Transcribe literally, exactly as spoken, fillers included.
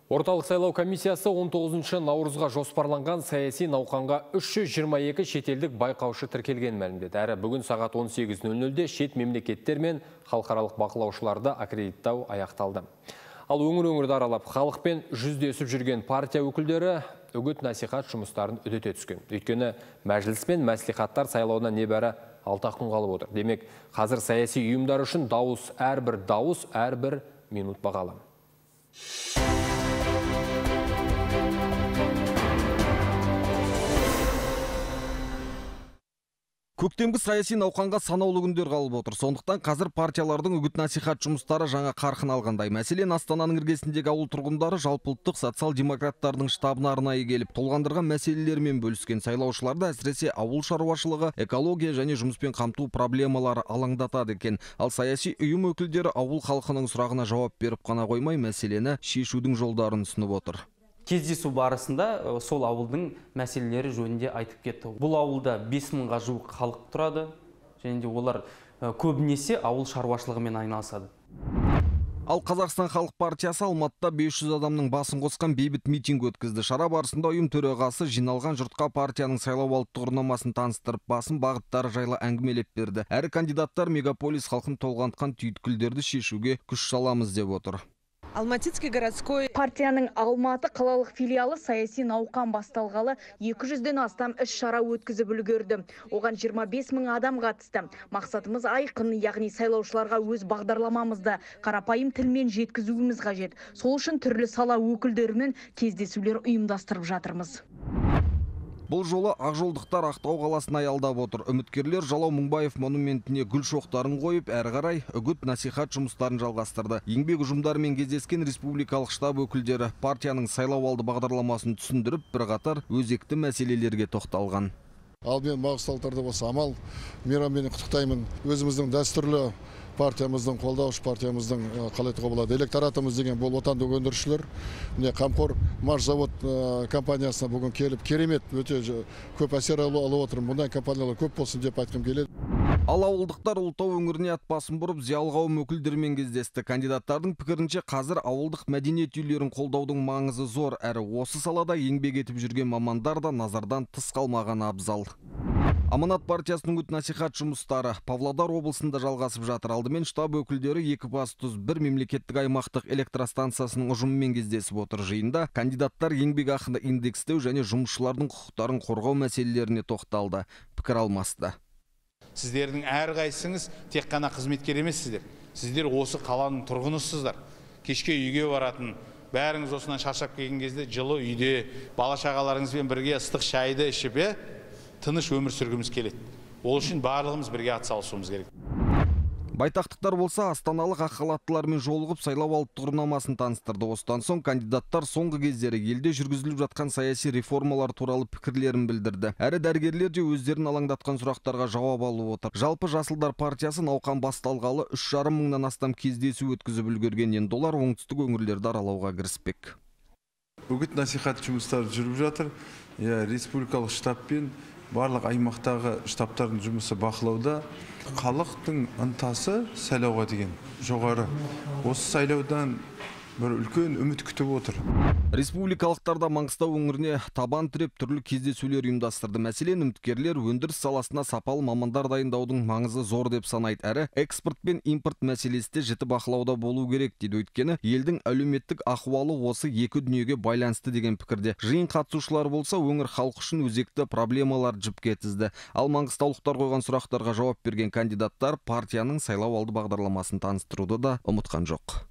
Орталық сайлау комиссиясы он тоғызыншы наурызға жоспарланған саяси науқанға үш жүз жиырма екі шетелдік байқаушы тіркелген мәлімдеді. Әрі бүгін сағат он сегіз нөл нөлде шет мемлекеттер мен халықаралық бақылаушыларды аккредиттау аяқталды. Ал өңір-өңірді аралап, халықпен жүздесіп жүрген партия өкілдері үгіт-насихат жұмыстарын үдете түскен. Өйткені мәжіліс пен мәслихаттар сайлауына небәрі алты күн қалып отыр. Демек, қазір саяси ұйымдар үшін дауыс әрбір дауыс әрбір минут бағалы. Көктемгі саяси науқанға санаулы күндер қалып отыр. Сондықтан қазір партиялардың үгіт-насихат жұмыстары жаңа қарқын алғандай. Мәселен, Астананың іргесіндегі ауыл тұрғындары жалпыұлттық социал-демократтардың штабына арнайы келіп, толғандырған мәселелермен бөліскен. Сайлаушыларды әсіресе ауыл шаруашылығы, экология және жұмыспен қамту проблемалары алаңдатады екен. Ал саяси ұйым өкілдері ауыл халқының сұрағына жауап беріп қана қоймай, мәселені шешудің жолдарын ұсынып отыр. Кездесу барысында сол ауылдың мәселелері жөнінде айтып кетті. Бұл ауылда бес мыңға жуық халық тұрады, және де олар көбінесе ауыл шаруашылығымен айналысады. Ал Қазақстан халық партиясы Алматыда бес жүз адамның басын қосқан бейбіт митинг өткізді. Шара барысында ұйым төрағасы жиналған жұртқа партияның сайлауалды тұғырнамасын таныстырып, басым бағыттары жайлы әңгімелеп берді. Әрі кандидаттар мегаполис халқын толғантқан түйткілдерді шешуге күш саламыз деп отыр. Алматинский городской партияның Алматы қалалық филиалы саяси науқан басталғалы екі жүзден астам іс шара өткізіп үлгерді. Оған жиырма бес мың адам қатысты. Мақсатымыз айқын, яғни сайлаушыларға өз бағдарламамызды қарапайым тілмен жеткізуіміз қажет. Сол үшін түрлі сала өкілдерімен кездесулер ұйымдастырып жатырмыз. Бұл жолы ақжолдықтар Ақтау қаласын аялдап отыр. Үміткерлер Жалау Мыңбаев монументіне гүл шоқтарын қойып, әрі қарай үгіт-насихат жұмыстарын жалғастырды. Еңбек ұжымдарымен кездескен республикалық штаб өкілдері партияның сайлауалды бағдарламасын түсіндіріп, бірқатар өзекті мәселелерге тоқталған. Ал мен мағысталтарды болса амал мейраммен құттықтаймын. Өзіміздің дәстүрлі партиямыздың, қолдаушы партиямыздың қалай айтуға болады, электоратымыз деген бұл отандық өндірушілер. Міне Қамқор Машзавод компаниясына бүгін келіп, керемет, өте көп әсер алып отырмын. Бұндай компаниялар көп болсын деп айтқым келеді. Ал ауылдықтар Ұлытау өңіріне ат басын бұрып, зиялы қауым өкілдерімен кездесті. Кандидаттардың пікірінше қазір ауылдық мәдениет үйлерін қолдаудың маңызы зор, әрі осы салада еңбек етіп жүрген мамандар да назардан тыс қалмаған абзал. Аманат партиясының үгіт-насихат жұмыстары Павлодар облысында жалғасып жатыр. Алдымен штаб өкілдері Екібастұз бір мемлекеттік аймақтық электростанциясының ұжымымен кездесіп отыр. Жиында кандидаттар еңбек ақыны индекстеу және жұмысшылардың құқықтарын қорғау мәселелеріне тоқталды, пікір алмасты. Сіздердің әрқайсыңыз тек қана қызметкер емессіздер. Сіздер осы қаланың тұрғынысыздар. Кешке үйге баратын, бәріңіз осынан шаршап келген кезде жылы үйде бала шағаларыңызбен бірге ыстық шайды ішіп, тыныш өмір сүргіміз келеді. Ол үшін барлығымыз бірге атсалысуымыз керек. Байтақтықтар болса астаналық ақ халаттылармен жолығып сайлауалды тұғырнамасын таныстырды. Осыдан соң кандидаттар соңғы кездері елде жүргізіліп жатқан саяси реформалар туралы пікірлерін білдірді. Әрі дәрігерлер де өздерін алаңдатқан сұрақтарға жауап алып отыр. Жалпы Жасылдар партиясы науқан басталғалы үш жарым мыңнан астам кездесу өткізіп үлгерген, енді олар оңтүстік өңірлерді аралауға кіріспек. Үгіт-насихат жұмыстары жүріп жатыр. Республикалық штабпен барлық аймақтағы штабтардың жұмысы бақылауда. Халықтың ынтасы сайлауға деген жоғары. Осы сайлаудан бір үлкен үміт күтіп отыр. Республикалықтарда Маңғыстау өңіріне табан тіреп түрлі кездесулер ұйымдастырды. Мәселен, үміткерлер өндіріс саласына сапалы мамандар дайындаудың маңызы зор деп санайды. Әрі экспорт пен импорт мәселесі жіті бақылауда болу керек дейді. Өйткені елдің әлеуметтік ахуалы осы екі дүниеге байланысты деген пікірде. Жиын қатысушылар болса, өңір халық үшін өзекті проблемалар жіпке тізді. Ал маңғыстаулықтар қойған сұрақтарға жауап берген кандидаттар партияның сайлауалды бағдарламасын таныстыруды да ұмытқан жоқ.